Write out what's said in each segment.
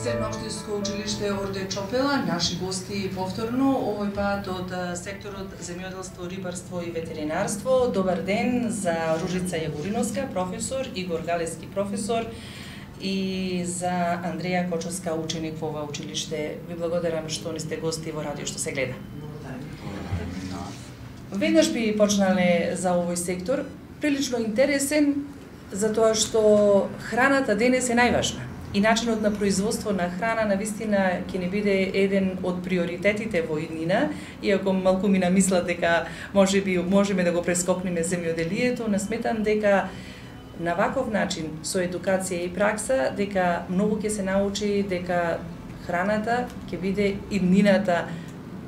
Средно општинско училиште Орде Чопела, наши гости повторно, овој пат од секторот земјоделство, рибарство и ветеринарство. Добар ден за Ружица Јагориновска, професор, Игор Галески, професор, и за Андреја Кочовска, ученик во ова училиште. Ви благодарам што ни сте гости во радио што се гледа. Веднаш би почнале за овој сектор, прилично интересен, затоа што храната денес е најважна. И начинот на производство на храна навистина ќе не биде еден од приоритетите во иднина, иако малку ми намислат дека можеме да го прескокнеме земјоделието, не сметам дека на ваков начин, со едукација и пракса, дека многу ќе се научи дека храната ќе биде иднината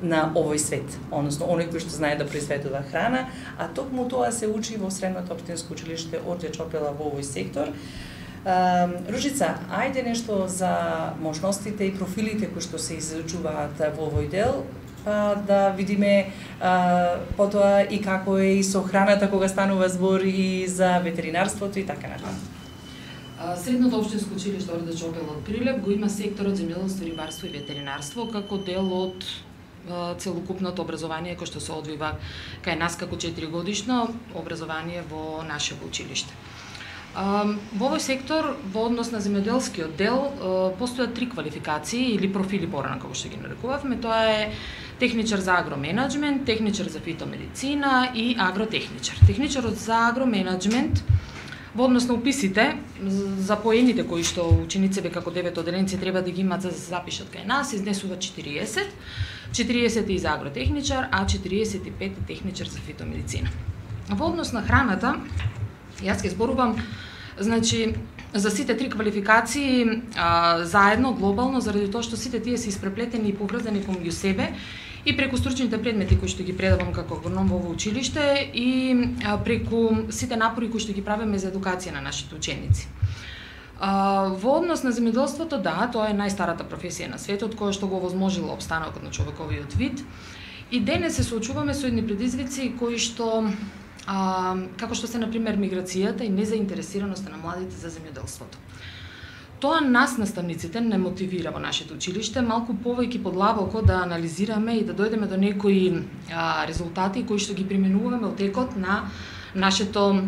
на овој свет, односно оној кој што знае да произведува храна, а токму тоа се учи во Средното општинско училиште Орде Чопела во овој сектор. Ружица, ајде нешто за можностите и профилите кои што се изучуваат во овој дел, па да видиме потоа и како е и со храната кога станува збор и за ветеринарството и така натаму. Средното општинско училиште Орде Чопела од Прилеп го има секторот земјоделство, рибарство и ветеринарство како дел од целокупното образование кој што се одвива кај нас како 4-годишно образование во нашето училиште. Во овој сектор, во однос на земјоделскиот дел, постојат 3 квалификации или профили порано како што ги нарекувавме. Тоа е техничар за агроменаџмент, техничар за фитомедицина и агротехничар. Техничарот за агроменаџмент во однос на уписите за поените кои што учениците како 9 оделенци треба да ги имаат за да се запишат кај нас, изнесува 40. 40 е и за агротехничар, а 45 е техничар за фитомедицина. Во однос на храната, јас ќе зборувам значи за сите 3 квалификации заедно глобално заради тоа што сите тие се испреплетени и поврзани помеѓу себе и преку стручните предмети кои што ги предавам како агроном во ово училиште и преку сите напори кои што ги правиме за едукација на нашите ученици. Во однос на земјоделството, да, тоа е најстарата професија на светот која што го овозможила опстанокот на човековиот вид. И денес се соочуваме со едни предизвици кои што како што се на пример миграцијата и незаинтересираноста на младите за земјоделството. Тоа нас наставниците не мотивира во нашето училиште малку повеќе подлабоко да анализираме и да дојдеме до некои резултати кои што ги применуваме во текот на нашето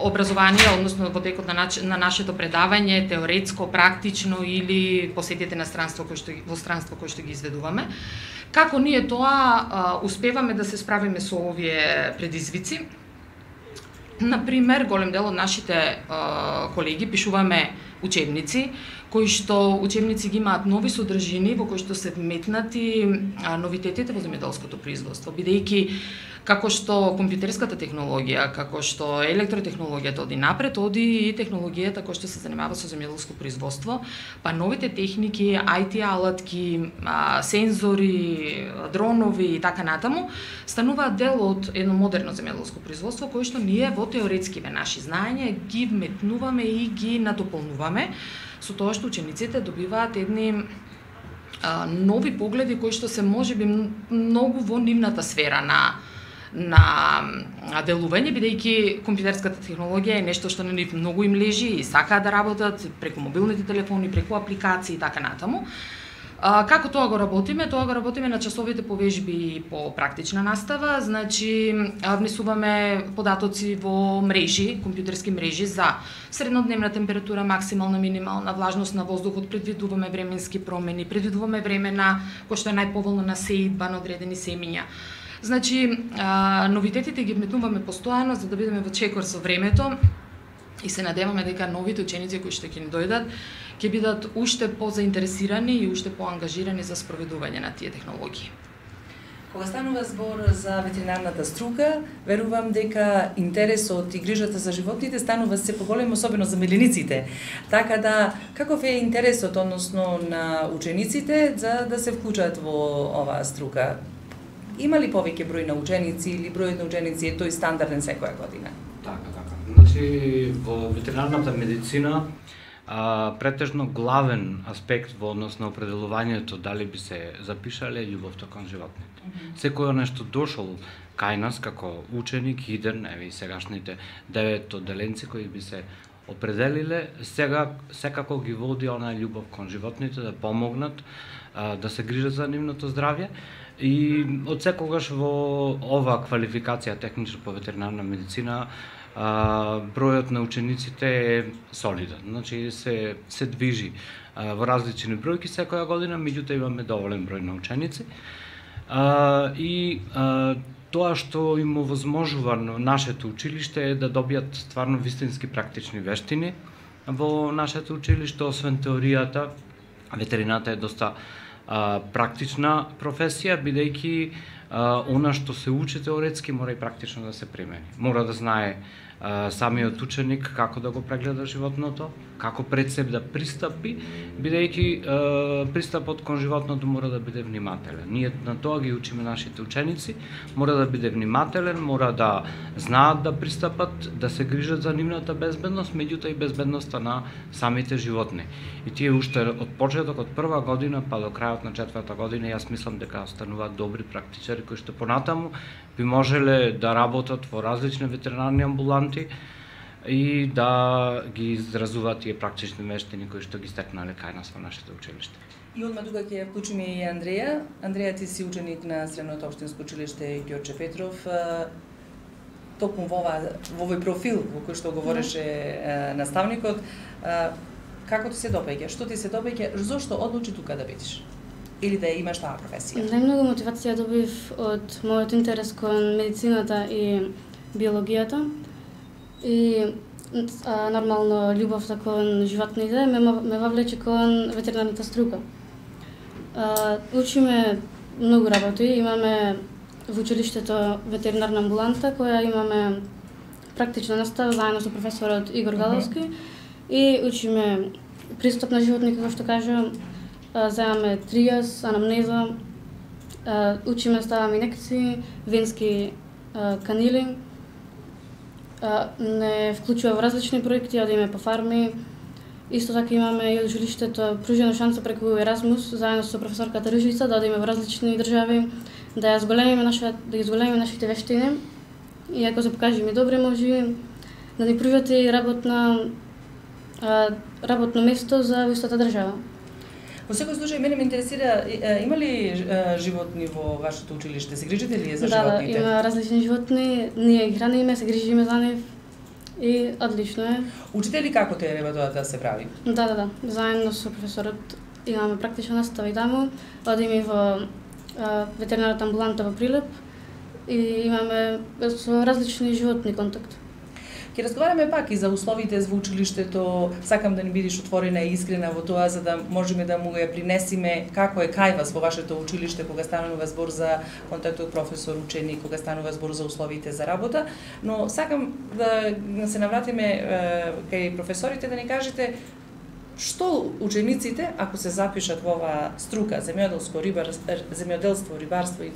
образование, односно во текот на нашето предавање, теоретско, практично или посетите на странство кој што ги изведуваме. Како ние тоа успеваме да се справиме со овие предизвици? Например, голем дел од нашите колеги пишуваме учебници, кои што учебници ги имаат нови содржини во кои што се вметнати новитетите во земјоделското производство, бидејќи како што компјутерската технологија, како што електротехнологијата оди напред, оди и технологијата која што се занимава со земјоделско производство, па новите техники, IT алатки, сензори, дронови и така натаму, стануваат дел од едно модерно земјоделско производство кое што ние во теоретскиве наши знаења ги вметнуваме и ги надополнуваме со тоа што учениците добиваат едни нови погледи кои што се можеби многу во нивната сфера на делување, бидејќи компјутерската технологија е нешто што на нив многу им лежи и сакаат да работат преку мобилните телефони, преку апликации и така натаму. Како тоа го работиме? Тоа го работиме на часовите по вежби и по практична настава, значи внесуваме податоци во мрежи, компјутерски мрежи за среднодневна температура, максимална, минимална влажност на воздухот, предвидуваме временски промени, предвидуваме времена кој што е најповолно на сеидба на одредени семиња. Значи, новитетите ги вметнуваме постојано за да бидеме во чекор со времето и се надеваме дека новите ученици кои што ќе ни дојдат ќе бидат уште позаинтересирани и уште поангажирани за спроведување на тие технологии. Кога станува збор за ветеринарната струка, верувам дека интересот и грижата за животните станува се поголем, особено за милениците. Така да, каков е интересот, односно на учениците, за да се вклучат во оваа струка? Има ли повеќе број на ученици или бројот на ученици е тој стандарден секоја година? Така. Значи, во ветеринарната медицина претежно главен аспект во однос на определувањето дали би се запишале љубовта кон животните. Секој нешто дошол кај нас како ученик, иден, еве и сегашните 9 одделенци кои би се определиле, сега секако ги води онаа љубов кон животните, да помогнат, да се грижат за нивното здравје. И од секогаш во оваа квалификација техничар по ветеринарна медицина бројот на учениците е солиден. Значи се движи во различни бројки секоја година, меѓутоа имаме доволен број на ученици. И тоа што им овозможува нашето училиште е да добијат стварно вистински практични вештини во нашето училиште. Освен теоријата, ветерината е доста практична професија, бидејќи она што се учи теоретски мора и практично да се примени. Мора да знае самиот ученик како да го прегледа животното, како пред себе да пристапи, бидејќи пристапот кон животното мора да биде внимателен. Ние на тоа ги учиме нашите ученици, мора да биде внимателен, мора да знаат да пристапат, да се грижат за нивната безбедност, меѓутоа и безбедноста на самите животни. И тие уште од почеток, од прва година па до крајот на 4-та година, јас мислам дека стануваат добри практичари кои што понатаму би можеле да работат во различни ветеринарни амбуланти и да ги изразуваат тие практични вештини кои што ги стекнале кај нас во нашето училиште. И одма тука ќе вклучиме и Андреја. Андреја, ти си ученик на Средното општинско училиште Ѓорче Петров. Токму во овој профил во кој што говореше наставникот, како ти се допаѓа? Што ти се допаѓа? Зошто одлучи тука да бидеш? Или да имаш таа професија? Најмногу мотивација добив од мојот интерес кон медицината и биологијата и нормално љубовта кон животните ме вовлече кон ветеринарната струка. Учиме многу работи, имаме во училиштето ветеринарна амбуланта која имаме практична настава заедно со професорот Игор Галовски и учиме пристап на животни, како што кажа, земаме тријас, анамнеза, учиме, ставаме инекции, венски канили, не вклучува во различни проекти, одиме по фарми. Исто така имаме и од училиштето пружена шанса преку Еразмус, заедно со професорката Ружица, да одиме во различни држави, да ги зголемиме нашите вештини и ако се покажеме добре, може да ни пружат и работно место за истата држава. Во секој случај, мене ме интересира, има ли животни во вашето училиште? Се грижите ли за животните? Да, има различни животни, ние ги храниме, се грижиме за нив и одлично е. Учите ли како треба тоа да се прави? Да. Заедно со професорот имаме практична настава и таму, одиме во ветеринарната амбуланта во Прилеп и имаме со различни животни контакт. Ќе разговараме пак и за условите во училиштето. Сакам да ни бидеш отворена и искрена во тоа, за да можеме да му ја принесиме како е кај вас во вашето училиште кога станува збор за контактот професор-ученик, кога станува збор за условите за работа. Но сакам да се навратиме кај професорите да ни кажете што учениците, ако се запишат во оваа струка земјоделство, рибарство и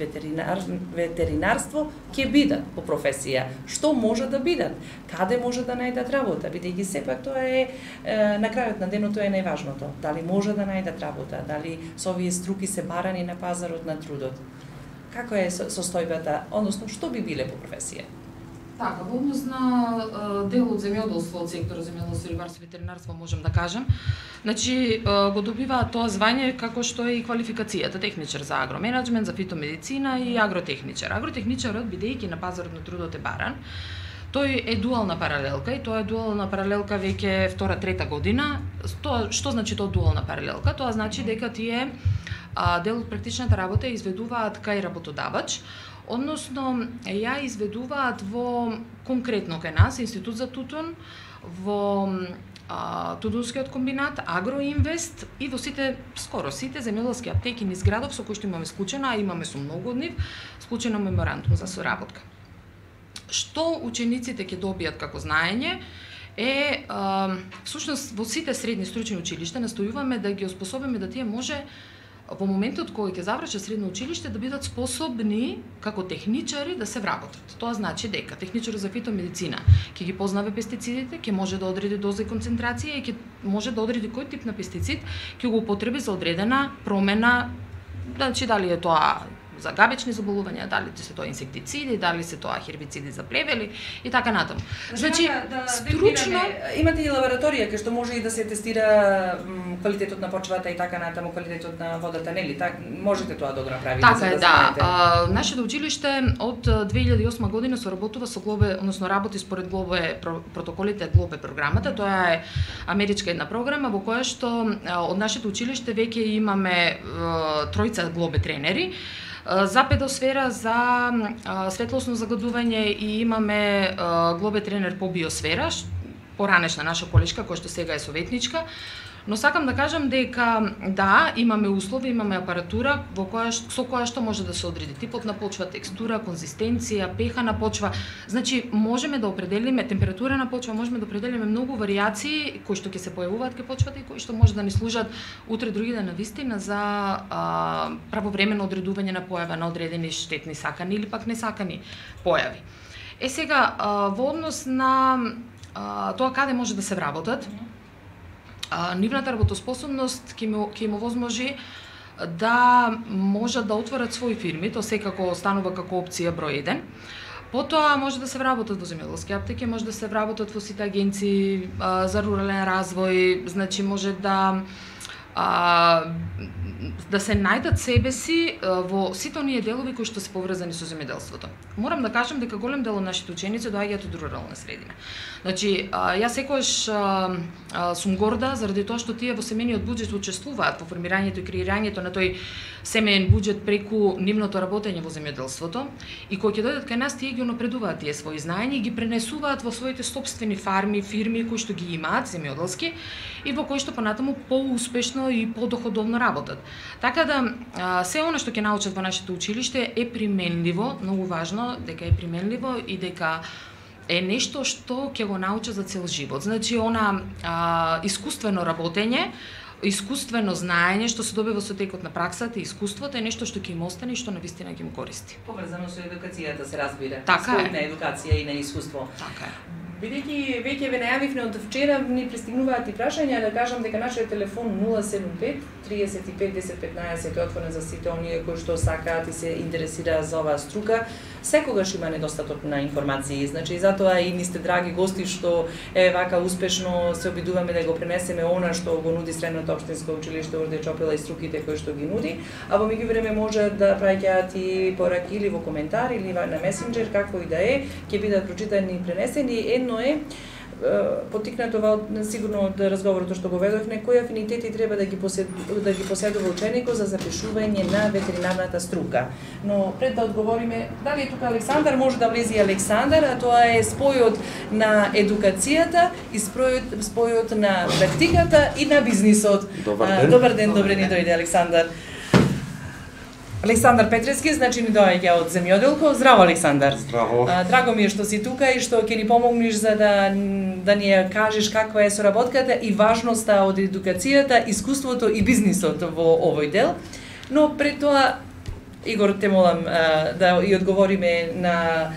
ветеринарство, ќе бидат по професија. Што може да бидат? Каде може да најдат работа? Бидејќи сепак тоа е на крајот на денот тоа е најважното. Дали може да најдат работа? Дали со овие струки се барани на пазарот на трудот? Како е состојбата, односно што би биле по професија? Така, во однос на дел од земјоделство, од секторот земјоделство, рибарство и ветеринарство можам да кажам. Значи, го добиваат тоа звање како што е и квалификацијата техничар за агроменеджмент, за фитомедицина и агротехничар. Агротехничарот, бидејќи на пазарот на трудот е баран, тој е дуална паралелка и тоа е дуална паралелка веќе втора, трета година. Што значи тоа дуална паралелка? Тоа значи дека тие дел од практичната работа изведуваат кај работодавач, односно ја изведуваат во конкретно кај нас Институт за тутун, во Тутунскиот комбинат, Агроинвест и во скоро сите земјоделски аптеки низ градов со кои што имаме склучена, а имаме со многу од нив, склучено меморандум за соработка. Што учениците ќе добијат како знаење е, всушност во сите средни стручни училишта настојуваме да ги оспособиме да тие може во моментот кога ќе завршат средно училиште да бидат способни како техничари да се вработат. Тоа значи дека техничарот за фитомедицина ќе ги познава пестицидите, ќе може да одреди доза и концентрација и ќе може да одреди кој тип на пестицид ќе го употреби за одредена промена, значи дали е тоа за габечни заболувања, дали се тоа инсектициди, дали се тоа хербициди за плевели и така натаму. Значи, стручно имате и лабораторија кај што може и да се тестира квалитетот на почвата и така натаму, квалитетот на водата, нели? Можете тоа да го направите. Така е, да. Нашето училиште од 2008 година соработува со Глобе, односно работи според Глобе протоколите Глобе програмата. Тоа е америчка една програма во која што од нашето училиште веќе имаме тројца Глобе тренери за педосфера, за светлосно загадување и имаме Глобе тренер по биосфера, поранешна наша колешка која што сега е советничка. Но сакам да кажам дека да, имаме услови, имаме апаратура со која што може да се одреди типот на почва, текстура, конзистенција, пеха на почва. Значи, можеме да определиме температура на почва, можеме да определиме многу варијации кои што ќе се појавуваат кај почвата и кои што може да ни служат утре други ден навистина за правовремено одредување на појава на одредени штетни сакани или пак несакани појави. Сега, во однос на тоа каде може да се вработат, нивната работоспособност ќе им овозможи да можат да отворат своји фирми, тоа секако станува како опција број 1. Потоа може да се вработат во земјоделски аптеки, може да се вработат во сите агенции за рурален развој, значи може да се најдат себе си во сите оние делови кои што се поврзани со земјоделството. Морам да кажам дека голем дел од нашите ученици доаѓаат од рурална средина. Значи, јас секогаш сум горда заради тоа што тие во семејниот буџет учествуваат во формирањето и креирањето на тој семеен буџет преку нивното работење во земјоделството и кога ќе дојдат кај нас, тие ги унапредуваат тие своји знаења и ги пренесуваат во своите сопствени фарми, фирми кои што ги имаат земјоделски и во кои што понатаму поуспешно и подоходовно работат. Така да се она што ќе научат во нашето училиште е применливо, многу важно дека е применливо и дека е нешто што ќе го научат за цел живот. Значи, искуствено работење, искуствено знаење што се добива со текот на праксата и искуството е нешто што ќе им остане и што навистина ќе им користи. Поврзано со едукацијата се разбира. Така е. На едукација и на искуство. Така е. Бидејќи веќе ве најавивме од вчера, ни пристигнуваат и прашања, да кажам дека нашиот телефон 075 35 10 15 е отворен за сите оние кои што сакаат и се интересираат за оваа струка. Секогаш има недостаток на информации, значи затоа и ни сте драги гости што вака успешно се обидуваме да го пренесеме она што го нуди Средното општинско училиште Орде Чопела и струките кои што ги нуди, а во меѓувреме може да праќаат и пораки или во коментар или на месенџер, како и да е, ќе бидат прочитани и пренесени. Едно е поттикнато сигурно од разговорот што го ведовме, кои афинитети треба да ги поседува ученикот за запишување на ветеринарната струка. Но пред да одговориме, дали е тука Александар, може да влезе и Александар, а тоа е спојот на едукацијата и спојот на практиката и на бизнисот. Добар ден, добре ни дојде Александар. Александар Петревски, значи ни доаѓа од земјоделко. Здраво, Александар. Здраво. Драго ми е што си тука и што ќе ни помогнеш за да ни кажеш каква е соработката и важноста од едукацијата, искуството и бизнисот во овој дел. Но пред тоа, Игор, те молам да и одговориме на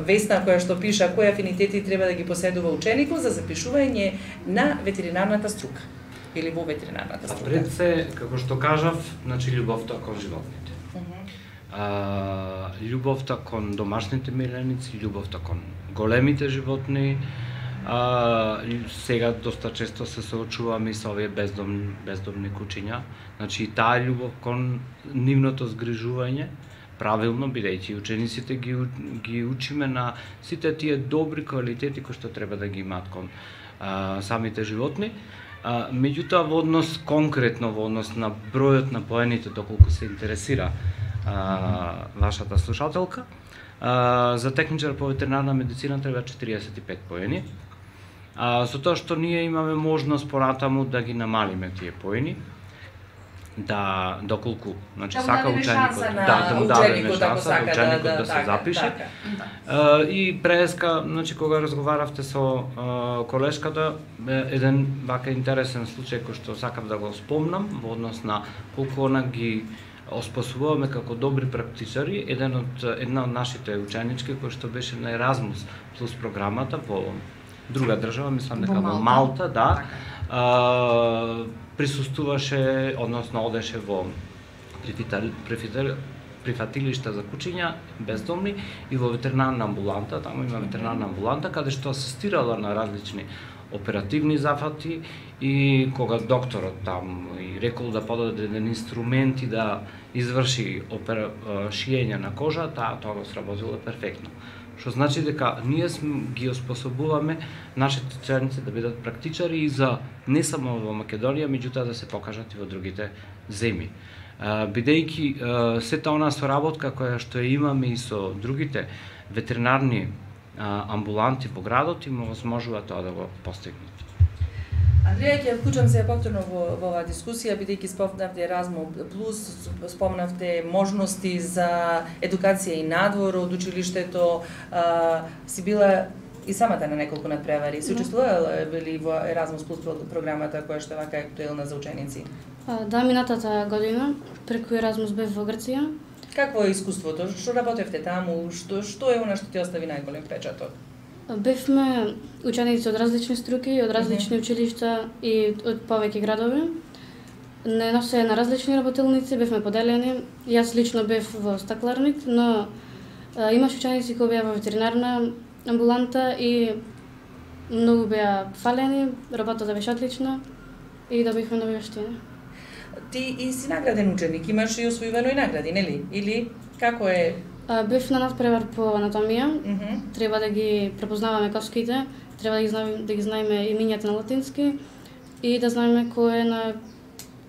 Весна која што пиша кои афинитети треба да ги поседува ученикот за запишување на ветеринарната струка или во ветеринарната струка. Пред се, како што кажав, значи љубовта кон животните. Љубовта кон домашните миленици, љубовта кон големите животни. Сега доста често се соочуваме со овие бездомни кучиња. Значи таа љубов кон нивното згрижување, правилно, бидејќи учениците ги учиме на сите тие добри квалитети кои што треба да ги имаат кон самите животни. Меѓутоа, во однос конкретно, во однос на бројот на поените, доколку се интересира вашата слушателка, за техничар по ветеринарна медицина треба 45 поени. Со тоа што ние имаме можност понатаму да ги намалиме тие поени, да доколку, значи сака ученикот, да му дадеме шанса да ученикот да се запише. И преска, значи кога разговаравте со колешката, еден вака интересен случај кој што сакам да го спомнам во однос на колку она ги оспособуваме како добри практичари, една од нашите ученички кој што беше на Еразмус плюс програмата во друга држава, мислам дека во Малта, да. присуствуваше, односно одеше во прифатилишта за кучиња бездомни и во ветеринарна амбуланта, таму има ветеринарна амбуланта каде што асистирала на различни оперативни зафати и кога докторот там и рекол да подаде еден инструмент и да изврши шиење на кожа, тоа сработило перфектно. Што значи дека ние ги оспособуваме нашите ученици да бидат практичари и за не само во Македонија, меѓутоа да се покажат и во другите земји. Бидејќи сета онаа соработка која што ја имаме и со другите ветеринарни амбуланти во градот им овозможува тоа да го постигнат. Андреја, ќе вклучам се повторно во оваа дискусија, бидејќи спомнавте Еразмус плюс, спомнавте можности за едукација и надвор од училиштето, си била и самата на неколку надпревари. Се учествувала ли во Еразмус плюс програмата која што е вака актуелна за ученици? Да, минатата година преку Еразмус бев во Грција. Какво е искуството? Што работевте таму? Што е она што ти остави најголем впечаток? Бевме ученици од различни струки, од различни училишта и од повеќе градови. Не носе на различни работилници, бевме поделени. Јас лично бев во стакларник, но имаш ученици кои беа во ветеринарна амбуланта и многу беа фалени, работата беше отлична и добивме нови вештини. Ти и си награден ученик, имаш и освојувано и награди, нели? Или како е? Бев на надпревар по анатомија. Треба да ги препознаваме коските, треба да ги знаеме имињата на латински и да знаеме кој е на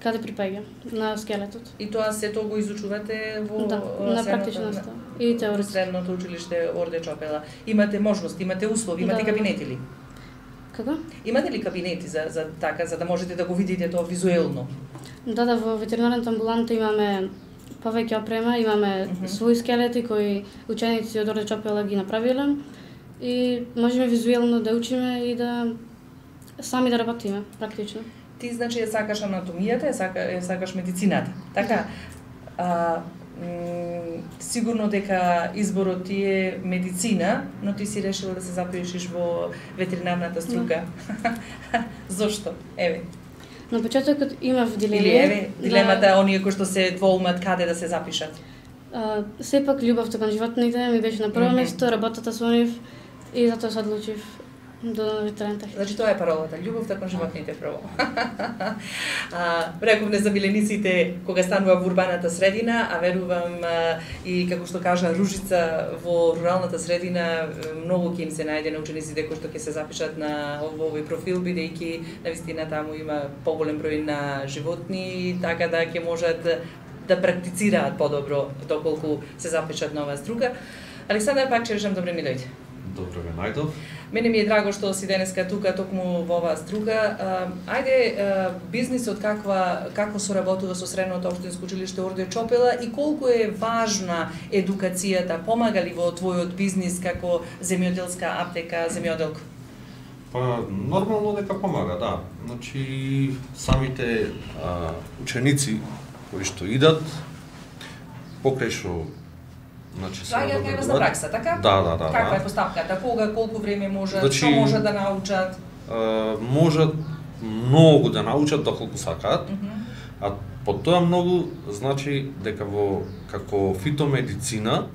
каде припаѓа на скелетот. И тоа сето го изучувате во на практична настава и теоретски. Средното училиште Орде Чопела. Имате можност, имате услови, имате кабинети ли? Како? Имате ли кабинети за така, за да можете да го видите тоа визуелно? Да, во ветеринарната амбуланта имаме повеќе опрема, имаме своји скелети кои ученици од Орде Чопела ги направиле и можеме визуелно да учиме и да сами да работиме практично. Ти значи ја сакаш анатомијата, ја сакаш медицината, така? Сигурно дека изборот ти е медицина, но ти си решила да се запишеш во ветеринарната струка. Зошто? Еве. На почетокот имав дилема. Или еве, дилемата оние кои што се двоумат каде да се запишат. Сепак љубовта кон животните ми беше на прво место, работата со нив и затоа се одлучив до ветеринарната. Значи тоа е паролата, љубовта кон животните прво. Рековме за милениците кога станува во урбаната средина, а верувам и како што кажа Ружица во руралната средина многу ќе им се најде на учениците кои што ќе се запишат на овој профил, бидејќи навистина таму има поголем број на животни, така да ќе можат да практицираат подобро доколку се запишат на оваа струка. Александар, пак ќе речам добре ми дојде. Добро ме најдов. Мене ми е драго што си денеска тука токму во оваа струка. Ајде бизнисот како соработува со Средното општинско училиште Орде Чопела и колку е важна едукацијата, помага ли во твојот бизнис како земјоделска аптека, земјоделка? Па нормално дека помага, да. Значи самите ученици кои што идат покрај што Слагаат кај вас на пракса, така? Да. Каква е постапката? Кога, колку време можат, што можат да научат? Можат многу да научат доколку сакаат, а по тоа многу значи дека како фитомедицина,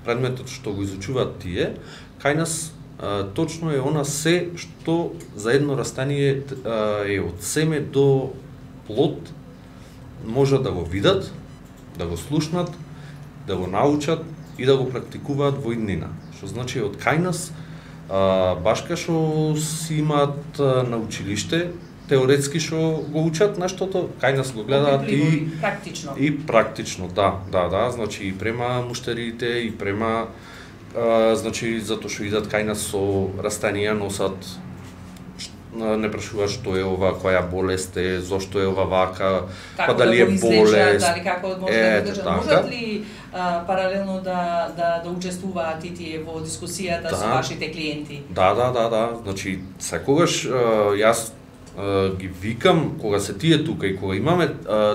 предметот што го изучуваат тие, кај нас точно е она се што за едно растение е од семе до плод, можат да го видат, да го слушнат, да го научат и да го практикуваат во иднина. Што значи од кај нас баш кај што си имаат на училиште, теоретски што го учат нештото, кај нас го гледаат и практично, да, значи и према муштериите и према значи затоа што идат кај нас со растанија носат, не прашуваат што е ова, која болест е, зошто е ова вака, па дали е болест. Дали како може да го можат ли паралелно да учествуваат и тие во дискусијата со вашите клиенти? Да. Значи секогаш јас ги викам кога се тие тука и кога имаме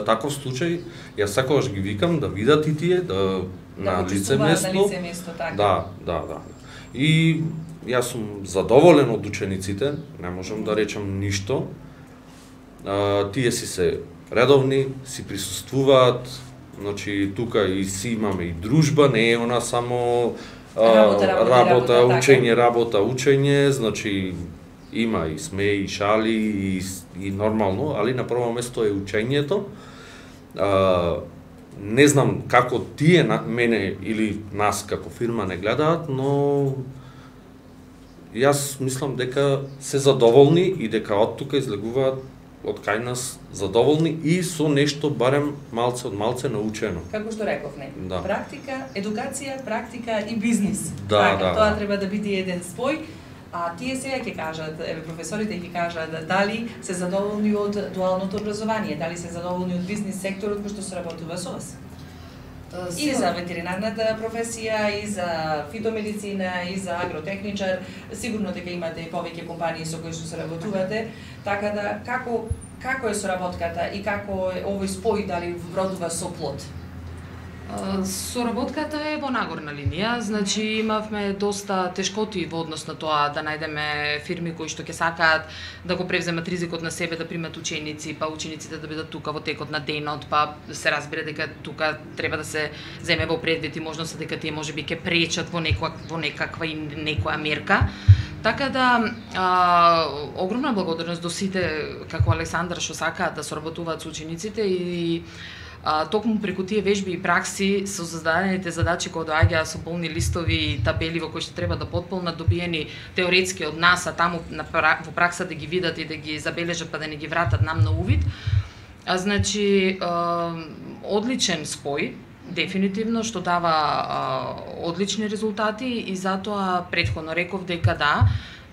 таков случај, јас секогаш ги викам да видат и тие на лице место. Да. И јас сум задоволен од учениците, не можам да речам ништо. Тие си се редовни, си присуствуваат, Значи тука и си имаме и дружба, не е она само работа, учење, значи има и смеи, и шали, и нормално, али на прво место е учењето. Не знам како тие мене или нас како фирма не гледаат, но јас мислам дека се задоволни и дека од тука излегуваат од кај нас задоволни и со нешто барем малце од малце научено. Како што рековме, да. Практика, едукација, практика и бизнис. Да, Тоа треба да биде еден спој. А тие сега ќе кажат, професорите ќе кажат дали се задоволни од дуалното образование, дали се задоволни од бизнис секторот кој што се работува со вас. И за ветеринарната професија, и за фитомедицина, и за агротехничар, сигурно дека имате и повеќе компании со кои што се работувате, така да како е соработката и како е овој спој, дали вродува со плод? Соработката е во нагорна линија, значи имавме доста тешкоти во однос на тоа да најдеме фирми кои што ќе сакаат да го превземат ризикот на себе да примат ученици, па учениците да бидат тука во текот на денот, па се разбира дека тука треба да се земе во предвид и можност дека тие можеби ќе пречат во некаква и некоја мерка. Така да, огромна благодарност до сите, како Александар, што сакаат да соработуваат со учениците и токму преку тие вежби и пракси со зададените задачи кои доаѓаат со полни листови и табели во кои што треба да потполнат, добиени теоретски од нас, а таму во пракса да ги видат и да ги забележат па да не ги вратат нам на увид. Значи, одличен спој, дефинитивно, што дава одлични резултати и затоа претходно реков дека да,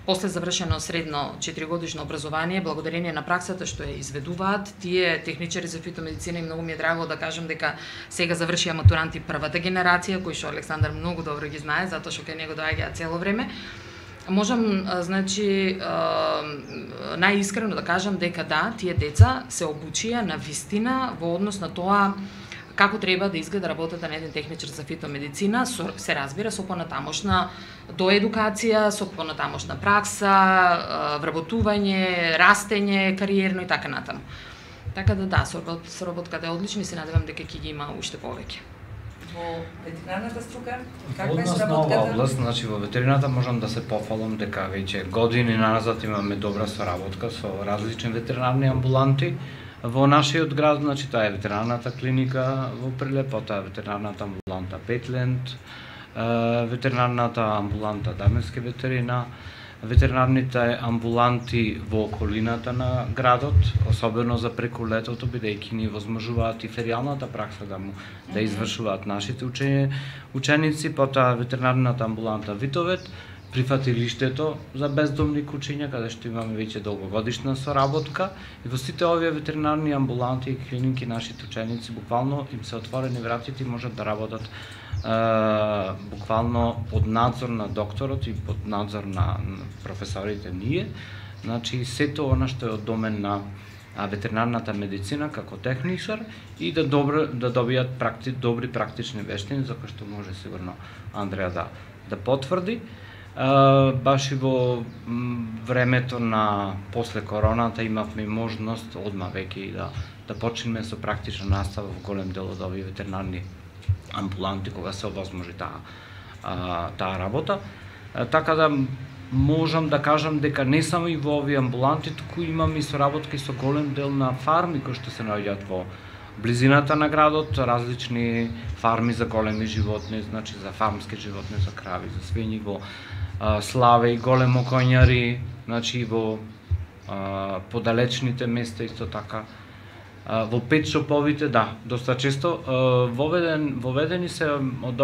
после завршено средно 4-годишно образование, благодарение на праксата што ја изведуваат, тие техничари за фитомедицина и многу ми е драго да кажам дека сега завршија матуранти првата генерација, кои што Александар многу добро ги знае, затоа што кај него доаѓаат цело време. Можам, значи, најискрено да кажам дека да, тие деца се обучија на вистина во однос на тоа како треба да изгледа работата на еден техничар за фитомедицина, се разбира со понатамошна доедукација, со понатамошна пракса, вработување, растење, кариерно и така натаму. Така да, соработката е одлична и се надевам дека ќе ги има уште повеќе. Во ветеринарната струка, каква е соработката? Област, значи во ветерината можам да се пофалам дека веќе години назад имаме добра соработка со различни ветеринарни амбуланти. Во нашиот град, значи таа е ветеринарната клиника во Прилеп, потоа ветеринарната амбуланта Петленд, ветеринарната амбуланта Даменски ветерина, ветеринарните амбуланти во околината на градот, особено за преку летото, бидејќи ни возможуваат и феријалната пракса да извршуваат нашите ученици, потоа ветеринарната амбуланта Витовет, прифатилиштето за бездомни кучиња, каде што имаме веќе долгогодишна соработка и во сите овие ветеринарни амбуланти и клиники нашите ученици буквално им се отворени вратите и можат да работат буквално под надзор на докторот и под надзор на професорите ние. Значи сето она што е од домен на ветеринарната медицина како техничар и да добијат добри практични вештини, за кои што може сигурно Андреја да потврди. Баш и во времето на после короната имавме можност одма веќе и да почнеме со практична настава во голем дел од овие ветеринарни амбуланти кога се овозможи таа работа. Така да можам да кажам дека не само и во овие амбуланти, туку имаме и соработки со голем дел на фарми кои што се наоѓаат во близината на градот, различни фарми за големи животни, значи за фармски животни, за крави, за свињи, во Славе и големо коњари, значи во подалечните места исто така. Во петшоповите, да, доста често воведени се од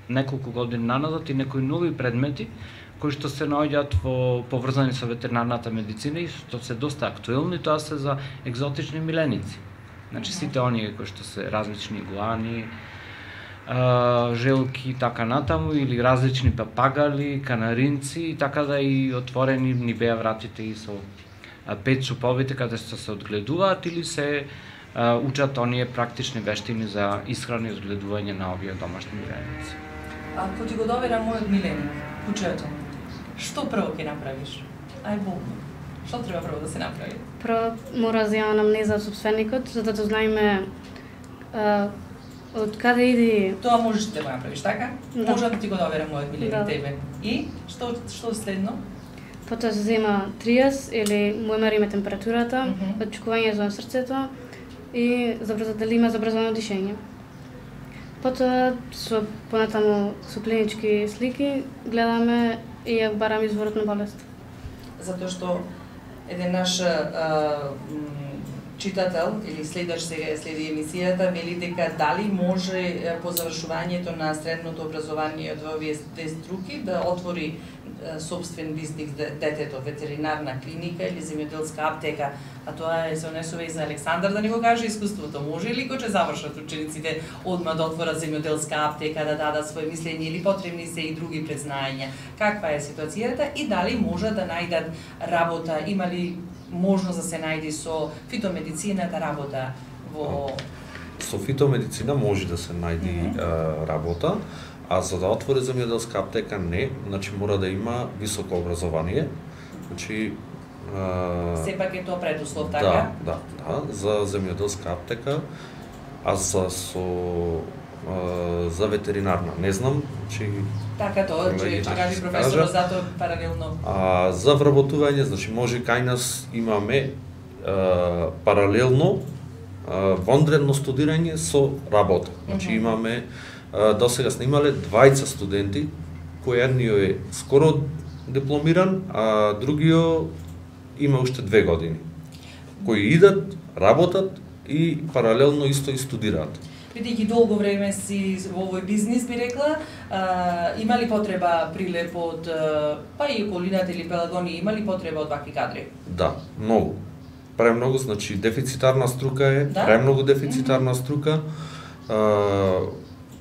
неколку години наназад и некои нови предмети кои што се наоѓаат поврзани со ветеринарната медицина и што се доста актуелни, тоа се за екзотични миленици. Значи сите оние кои што се различни игуани, желки и така натаму, или различни папагали, канаринци, и така да и отворени ни беа вратите и со петшоповите каде што се одгледуваат или се учат оние практични вештини за исхрана и одгледување на овие домашни миленици. Ако ти го доверам мојот миленик, кучето, што прво ќе направиш? Ај болно. Што треба прво да се направи? Прво мора да земаме анамнеза од собственикот, за да дознаеме од каде иди... Тоа можеш да го направиш, така? Да. Може да ти го доверам мојот милени Да. тебе. И што следно? Потоа се зема тријас или му мериме температурата, Мгм. отчекување за срцето и дали има забрзано дишење. Потоа со понатаму со клинички слики гледаме и ја бараме изворот на болест. Затоа што еден наш читател или следач сега следи емисијата вели дека дали може по завршувањето на средното образование од овие две струки да отвори собствен бизнис детето, ветеринарна клиника или земјоделска аптека, а тоа се однесува и за Александар да ни го каже искуството. Може ли кога ќе завршат учениците одма да отворат земјоделска аптека, да дадат своje мислење или потребни се и други презнаења? Каква е ситуацијата и дали може да најдат работа, има ли можност да се најде со фитомедицината работа во... Со фитомедицина може да се најде работа, а за да отвори земјоделска аптека не, значи мора да има високо образование. Значи Сепак е тоа предуслов, така? Да, за земјоделска аптека, а за ветеринарна не знам, значи Така тоа, че кажи професорот затоа паралелно. За вработување, значи може кај нас имаме паралелно вонредно студирање со работа. Значи имаме досега сме имале 20 студенти, кој едниот е скоро дипломиран, а другиот има уште 2 години. Кои идат, работат и паралелно исто и студираат. Бидејќи долго време си во овој бизнис, би рекла, има ли потреба прилеп од, па и околината или Пелагони, има ли потреба од вакви кадри? Да, многу. Премногу, значи дефицитарна струка е, Да? премногу дефицитарна струка.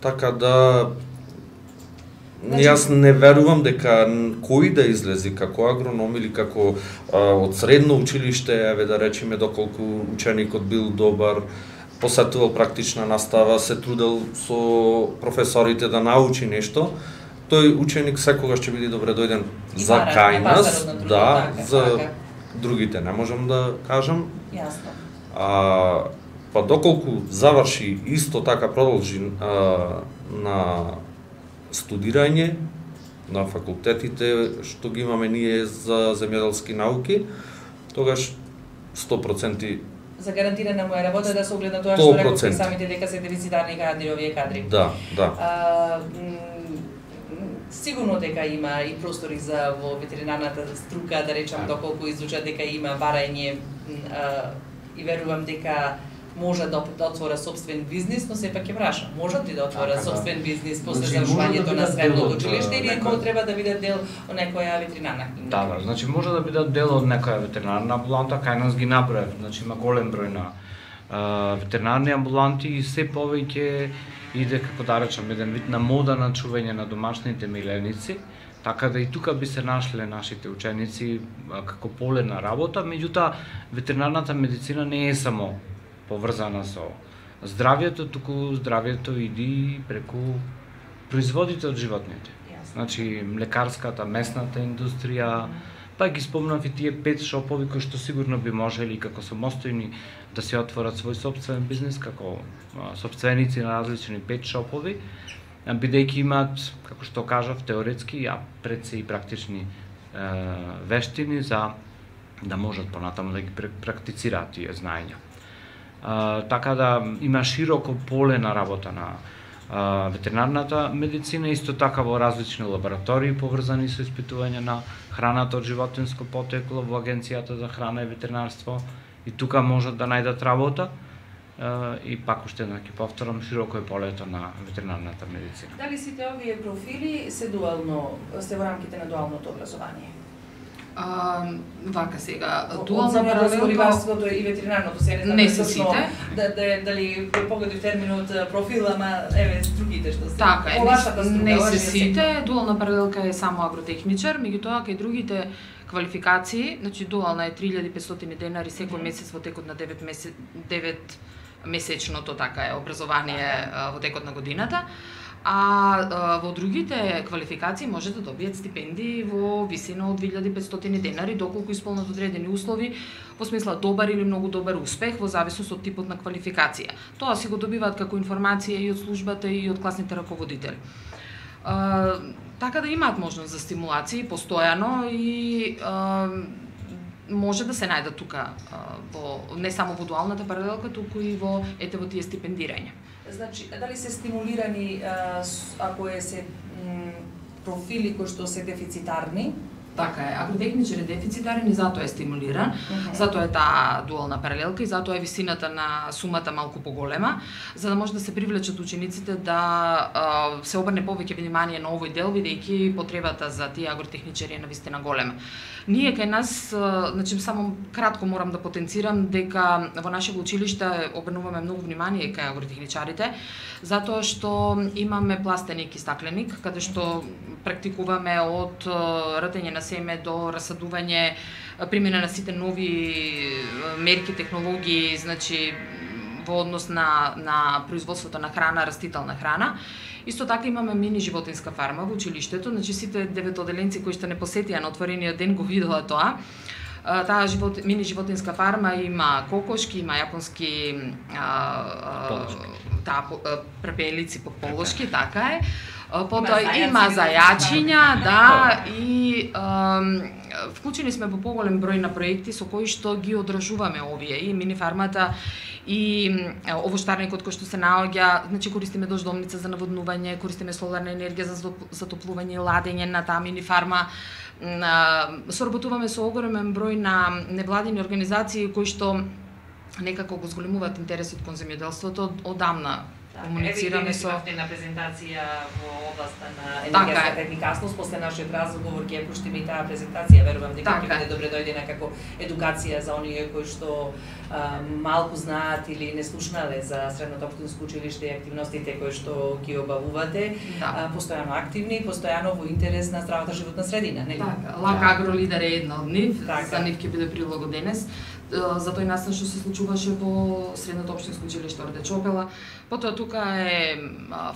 Така да јас не верувам дека кој да излези како агроном или како од средно училиште, еве да речеме доколку ученикот бил добар, посетувал практична настава, се трудел со професорите да научи нешто, тој ученик секогаш ќе биде добре дојден за кај нас, да, за другите не можам да кажам. Јасно. Па доколку заврши исто така продолжи на студирање на факултетите што ги имаме ние за земјоделски науки, тогаш 100% За гарантирана му е работа да се огледа тоа што рековте 100%. самите дека се дефицитарни кадри овие кадри. Да. Сигурно дека има и простори за во ветеринарната струка, да речам, доколку изучат дека има барање и верувам дека можат да отвора собствен бизнис, но сепак ќе прашам, можат ли да отворат собствен бизнис после завршувањето на средното училиште или треба да бидат дел од некоја ветеринарна клиника? Да, значи може да бидат дел од некоја ветеринарна амбуланта, кај нас ги направив, значи има голем број на ветеринарни амбуланти и се повеќе иде, како да речам, еден вид на мода на чување на домашните миленици, така да и тука би се нашле нашите ученици како поле на работа, меѓутоа ветеринарната медицина не е само поврзана со здравјето, туку здравјето иди преку производите од животните. Значи млекарската, месната индустрија, па ги спомнав и тие 5 шопови кои што сигурно би можели како самостојни да се отворат свој собствен бизнис како сопственици на различни 5 шопови, бидејќи имаат, како што кажав, теоретски, а пред се и практични вештини за да можат понатаму да ги практицираат тие знаења. Така да има широко поле на работа на ветеринарната медицина, исто така во различни лаборатории поврзани со испитување на храната од животинско потекло во Агенцијата за храна и ветеринарство, и тука можат да најдат работа. И пак уште еднак ќе повторам, широко е полето на ветеринарната медицина. Дали сите овие профили се во рамките на дуалното образование? Вака сега, дуално паралелно и ветеринарното се не се сите. Дали погодив терминот профил, ама еве стругите што се. Така е, не се сите. Дуална паралелка е само агротехничар, меѓутоа кај другите квалификации, значи дуална е 3500 денари секој месец во текот на 9 месечното така е образование во текот на годината. а во другите квалификации може да добијат стипендии во висина од 2500 денари доколку исполнат одредени услови, во смисла добар или многу добар успех во зависност од типот на квалификација. Тоа си го добиваат како информација и од службата и од класните раководители. Така да имаат можност за стимулации постојано и може да се најдат тука во не само во дуалната паралелка, туку и во тие стипендирања. Значи, дали се стимулирани ако се профили кои што се дефицитарни? Така е, агротехничар е дефицитарен и затоа е стимулиран, затоа е таа дуална паралелка и затоа е висината на сумата малку поголема, за да може да се привлечат учениците да се обрне повеќе внимание на овој дел, бидејќи потребата за тие агротехничари е навистина голема. Ние кај нас, значи само кратко морам да потенцирам дека во нашето училиште обрнуваме многу внимание кај агротехничарите, затоа што имаме пластеник и стакленик, каде што практикуваме од ртење на семе до расадување, примена на сите нови мерки, технологии, значи во однос на производството на храна, растителна храна. Исто така имаме мини животинска фарма во училиштето, значи сите деветоделенци кои што не посетија на отворениот ден го видела тоа. Таа мини животинска фарма има кокошки, има јапонски препелици по полошки, така е. Потоа има зајачиња, да, и вклучени сме во поголем број на проекти со кои што ги одржуваме овие и мини фармата и овоштарникот кој што се наоѓа, значи користиме дождовница за наводнување, користиме соларна енергија за затоплување и ладење на таа мини фарма. Соработуваме со огромен број на невладини организации кои што некако го зголемуваат интересот кон земјоделството одамна. Комуницираме со на презентација во областа на енергетската ефикасност, после нашиот разговор ќе пуштиме и таа презентација, верувам дека ќе биде добре дојдена како едукација за оние кои што малку знаат или не слушнале за Средното општинско училиште и активностите кои што ги обавувате, постојано активни, постојано во интерес на здравата животна средина, нели? Така, Лак Агро Лидер е една од нив, за нив ќе биде прилого денес. За тој настан што се случуваше во Средното општинско училиште Орде Чопела. Потоа тука е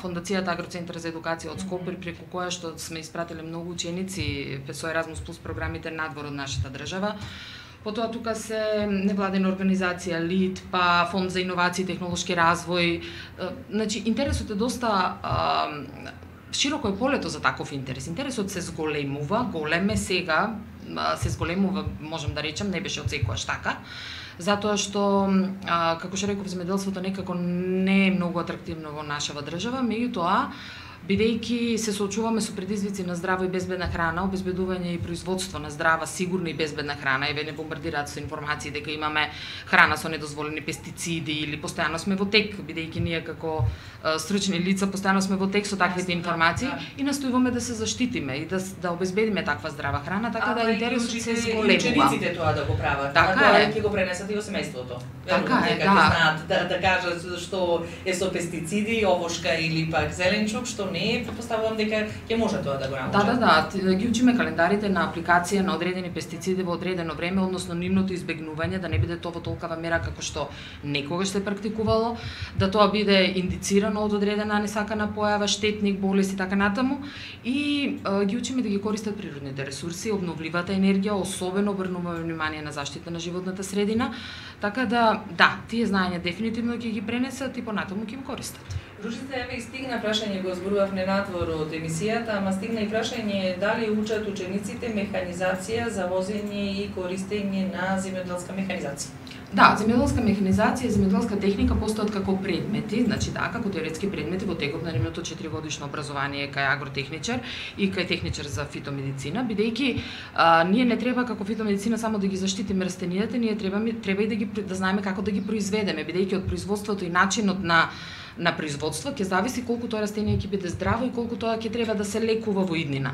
Фондацијата Агроцентар за едукација од Скопје, преку која што сме испратиле многу ученици со Еразмус плюс програмите надвор од нашата држава. Потоа тука се невладена организација ЛИД, па Фонд за иновации и технолошки развој. Значи интересот е доста широко е полето за таков интерес. Интересот се зголемува, големе сега, се зголемува, можам да речам, не беше од секојаш така, затоа што, како што реков, земјоделството некако не е многу атрактивно во нашава држава, меѓутоа, бидејќи се соочуваме со предизвици на здрава и безбедна храна, обезбедување и производство на здрава, сигурна и безбедна храна, еве не бомбардираат со информации дека имаме храна со недозволени пестициди или постојано сме во тек, бидејќи ние како стручни лица постојано сме во тек со таквите информации и настојуваме да се заштитиме и да обезбедиме таква здрава храна, така да интересот се зголемува. Учениците тоа да го прават, така е. Ќе го пренесат и во семејството. Така е, знаат да кажат што е со пестициди, овошка или пак зеленчук, што не е, предпоставувам дека ќе може тоа да го научат. Да, ги учиме календарите на апликација на одредени пестициди во одредено време, односно нивното избегнување, да не биде тоа во толкава мера како што некогаш се практикувало, да тоа биде индицирано од одредена несакана појава, штетник, болест и така натаму, и ги учиме да ги користат природните ресурси, обновливата енергија, особено обрнуваме внимание на заштита на животната средина, така да, тие знаења дефинитивно ќе ги пренесат и понатаму ќе ги користат. Ружица, еве и стигна прашање, го зборувавме надвор од емисијата, ама стигна и прашање дали учат учениците механизација за возење и користење на земјоделска механизација. Да, земјоделска механизација и земјоделска техника постојат како предмети, значи како теоретски предмети во текот на нивното 4-годишно образование кај агротехничар и кај техничар за фитомедицина, бидејќи ние не треба како фитомедицина само да ги заштитиме растенијата, ние треба и да знаеме како да ги произведеме, бидејќи од производството и начинот на производство ќе зависи колку тоа растение ќе биде здраво и колку тоа ќе треба да се лекува во иднина.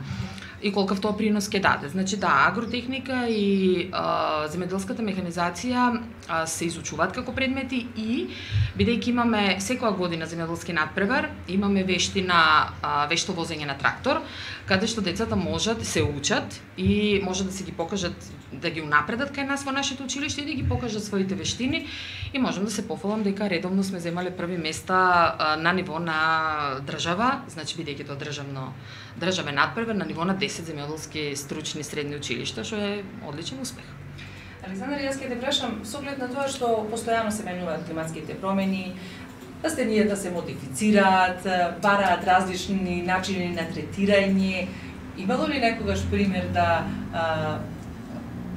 и колкав тоа принос ќе даде. Значи агротехника и земјоделската механизација се изучуваат како предмети и бидејќи имаме секоја година земјоделски надпревар, имаме вешто возење на трактор, каде што децата можат се учат и може да се ги покажат, да ги унапредат кај нас во нашето училиште и да ги покажат своите вештини и можам да се пофалам дека редовно сме земале први места на ниво на држава, значи бидејќи тоа државен надпревар на ниво на 10 земјоделски стручни средни училишта, што е одличен успех. Александар, јас ќе те прашам со оглед на тоа што постојано се менуваат климатските промени, растенијата се модифицираат, бараат различни начини на третирање. Имало ли некогаш пример да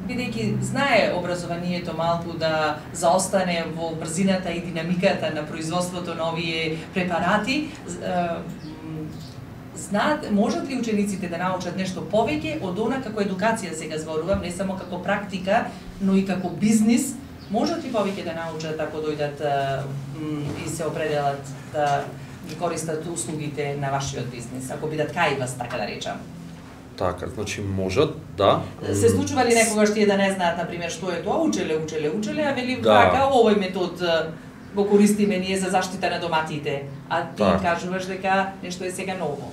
бидејќи знае образованието малку да заостане во брзината и динамиката на производството на овие препарати, знаат, можат ли учениците да научат нешто повеќе од она како едукација сега зборувам, не само како практика, но и како бизнис, можат ли повеќе да научат ако дојдат и се определат да ги користат услугите на вашиот бизнис, ако бидат кај вас, така да речам? Така, значи можат, да. Се случува ли некогаш тие да не знаат, например, што е тоа? Учеле, а вели така, овој метод го користиме ние за заштита на доматите, а ти кажуваш дека нешто е сега ново.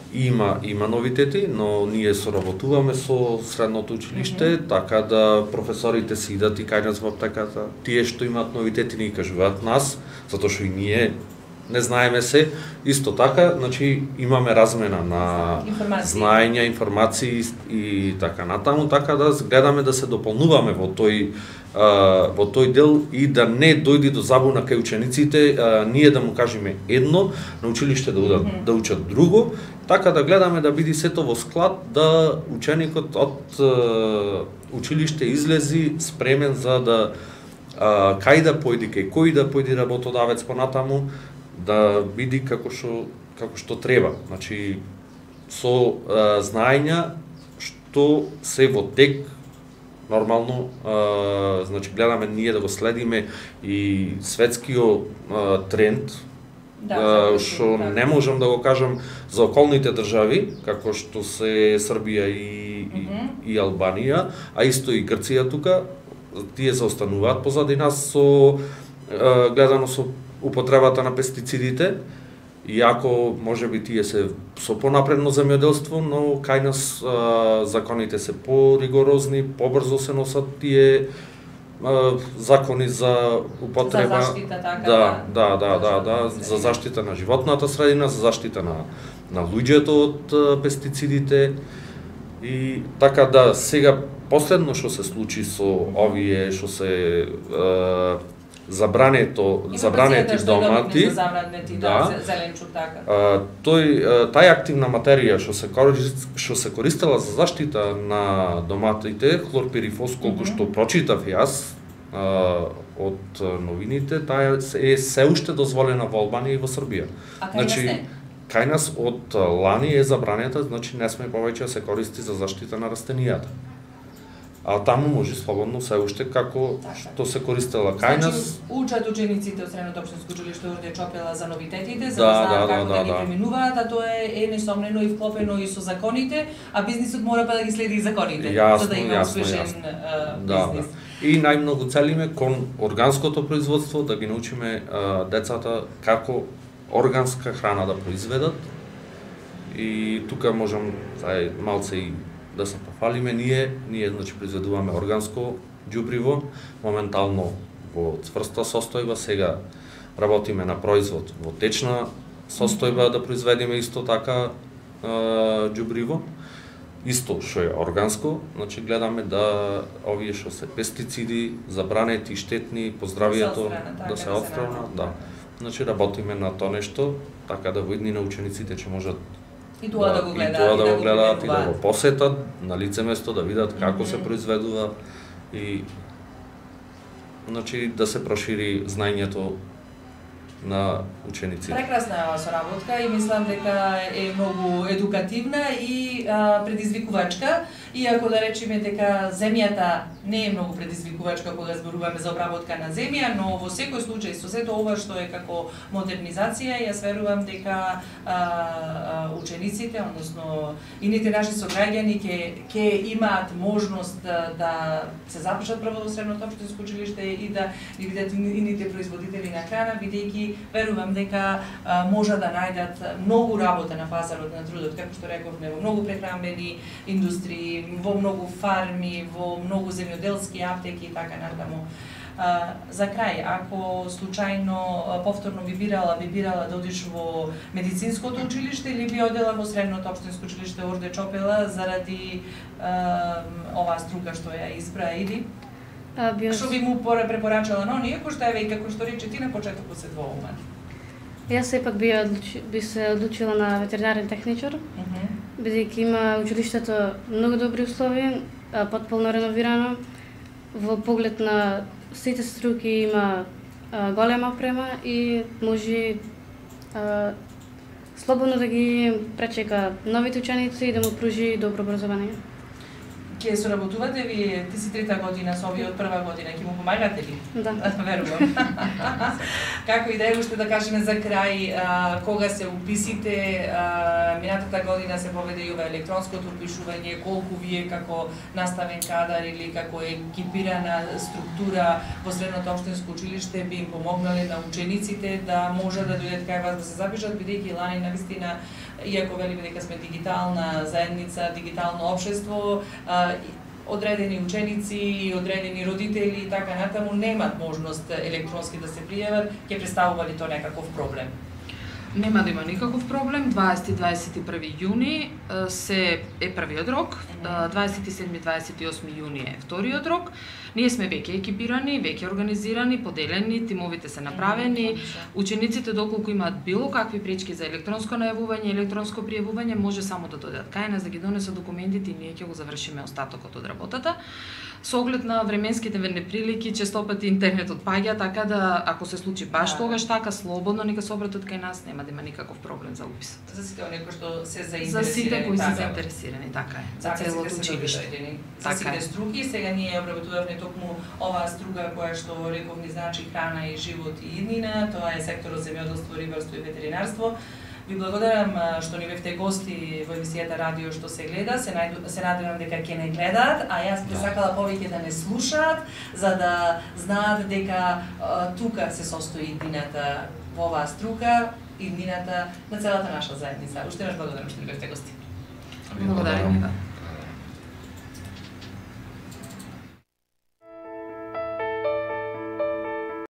Има новитети, но ние соработуваме со средното училиште, така да професорите си идат и кај нас во аптеката. Тие што имаат новитети ни кажуваат нас, затоа што и ние не знаеме се. Исто така, значи имаме размена на знаења, информации и така натаму, така да гледаме да се дополнуваме во тој дел и да не дојде до забуна кај учениците, ние да му кажеме едно, на училиште да учат друго, така да гледаме да биде сето во склад, да ученикот од училиште излези спремен за да кај да појде, кај кој да појде работодавец понатаму, да биде како што треба. Значи со знаења што се во тек нормално, значи гледаме ние да го следиме и светскиот тренд, што не можам да го кажам за околните држави, како што се Србија и Албанија, а исто и Грција тука, тие заостануваат позади нас со гледано со употребата на пестицидите, иако можеби тие се со понапредно земјоделство, но кај нас законите се поригорозни, побрзо се носат тие закони за употреба, за заштита, за заштита на животната средина, за заштита на луѓето од пестицидите и така да сега последно што се случи со овие што се забранети домати, зеленчук, така. Таја активна материја што се користела за заштита на доматите, хлорпирифос, колку што прочитав јас од новините, таа е се уште дозволена во Албанија и во Србија. А кај нас не? Кај нас од лани е забранета, значи не сме повеќе да се користи за заштита на растенијата. А таму може слободно се уште како што се користела кај нас. Значи, учат учениците од Средното општинско училиште Орде Чопела за новитетите, за да знаат како да ги преминуваат, а тоа е несомнено и вклопено и со законите, а бизнисот мора да ги следи и законите, за да има успешен бизнис. И најмногу целиме кон органското производство, да ги научиме децата како органска храна да произведат. И тука можам малце и да се пофалиме, ние значи произведуваме органско ѓубриво, моментално во цврста состојба, сега работиме на производ во течна состојба да произведеме исто така ѓубриво, исто што е органско, значи гледаме да овие што се пестициди, забранети, штетни по здравието да се отстранат, да. Значи работиме на тоа нешто, така да во иднина учениците ќе можат и тоа да го гледаат и да го посетат на лице место, да видат како се произведува и значи да се прошири знаењето на учениците. Прекрасна соработка и мислам дека е многу едукативна и предизвикувачка. Иако да речеме дека земјата не е многу предизвикувачка кога зборуваме за обработка на земја, но во секој случај со сето ова што е како модернизација, јас верувам дека учениците, односно ините наши сограѓани ќе имаат можност да се запишат прво во средното општинско училиште и да ги видат ините производители на храна, бидејќи верувам дека може да најдат многу работа на пазарот на трудот, како што рековме, во многу прехранбени индустрии, во многу фарми, во многу земјоделски аптеки и така натаму. За крај, ако случајно повторно би бирала да одиш во медицинското училиште или би одела во средното општинско училиште Орде Чопела заради оваа струка што ја избра или што би му препорачала на оние кои што е веќе како што рече ти на почетокот се двоумат? Јас сепак би се одлучила на ветеринарен техничар, бидејќи има училиштето многу добри услови, потполно реновирано, во поглед на сите струки има голема опрема и може слободно да ги пречека новите ученици и да му пружи добро образование. Ке соработувате ви, ти си трета година со овие од прва година, ќе му помагате ли? Да. Верувам. Како и да е, уште да кажеме за крај, кога се уписите, минатата година се поведе и ова електронското упишување, колку вие како наставен кадар или како екипирана структура во средното општинско училиште би им помогнале на учениците да можат да дојдат кај вас да се запишат, бидејќи лани навистина, иако велиме дека сме дигитална заедница, дигитално општество, одредени ученици и одредени родители и така натаму немат можност електронски да се пријават, ќе представува ли тоа некаков проблем? Нема да има никаков проблем. 20-21 јуни се е првиот рок, 27-28 јуни е вториот рок. Ние сме веќе екипирани, веќе организирани, поделени, тимовите се направени. Учениците доколку имаат било какви пречки за електронско најавување, електронско пријавување, може само да дојдат кај нас да ги донесат документите и ние ќе го завршиме остатокот од работата. Со оглед на временските неприлики, често пати интернетот паѓа, така да ако се случи баш тогаш така, слободно нека се обратат кај нас, нема да има никаков проблем за уписот. За сите оние кои што се заинтересирани. За сите кои се заинтересирани, така е. За целото училиште. За сите струки, сега ние обработувавме токму оваа струка која што рековни значи храна и живот и иднина, тоа е секторот земјоделство, рибарство и ветеринарство. Ви благодарам што ни бевте гости во емисијата Радио што се гледа, се надевам дека ќе не гледаат, а јас би сакала повеќе да не слушаат, за да знаат дека тука се состои иднината во оваа струка, иднината на целата наша заедница. Уште еднаш благодарам што ни бевте гости. Благодарам.